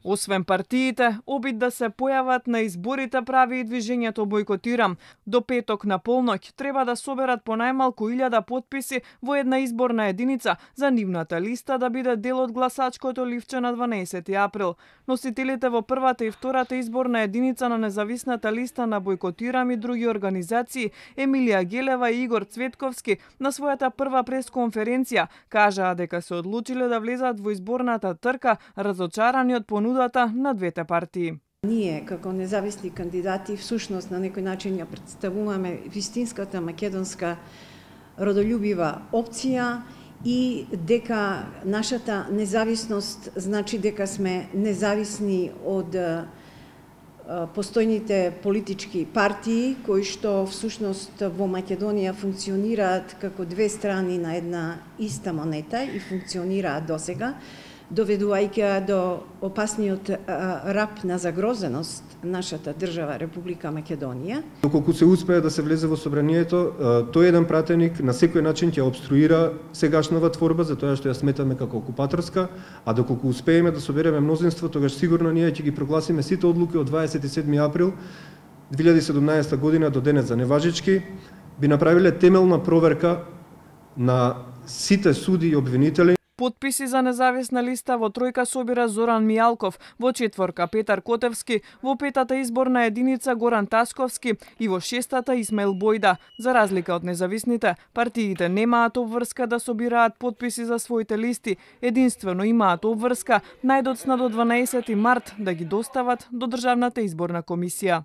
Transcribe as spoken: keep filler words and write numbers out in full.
Освен партиите, обид да се појават на изборите прави и движењето Бојкотирам. До петок на полноќ треба да соберат по најмалку илјада потписи во една изборна единица за нивната листа да биде дел од гласачкото ливче на дванаесети април. Носителите во првата и втората изборна единица на независната листа на Бојкотирам и други организации, Емилија Гелева и Игор Цветковски, на својата прва пресконференција кажаа дека се одлучиле да влезат во изборната трка, разочарани од понудата на двете партии. Ние, како независни кандидати, всушност на некој начин ја представуваме вистинската македонска родолюбива опција и дека нашата независност значи дека сме независни од постојните политички партии кои што всушност во Македонија функционираат како две страни на една иста монета и функционираат досега, доведувајќи до опасниот рап на загрозеност нашата држава Република Македонија. Доколку се успее да се влезе во собранието, тој еден пратеник на секој начин ќе обструира сегашнава творба за тоа што ја сметаме како окупаторска, а доколку успееме да собереме мнозинство, тогаш сигурно ние ќе ги прогласиме сите одлуки од дваесет и седми април две илјади и седумнаесета година до денес за неважички, би направиле темелна проверка на сите суди и обвинители. Потписи за независна листа во тројка собира Зоран Мијалков, во четворка Петар Котевски, во петата изборна единица Горан Тасковски и во шестата Исмаил Бојда. За разлика од независните, партиите немаат обврска да собираат потписи за своите листи, единствено имаат обврска најдоцна до дванаесети март да ги достават до Државната изборна комисија.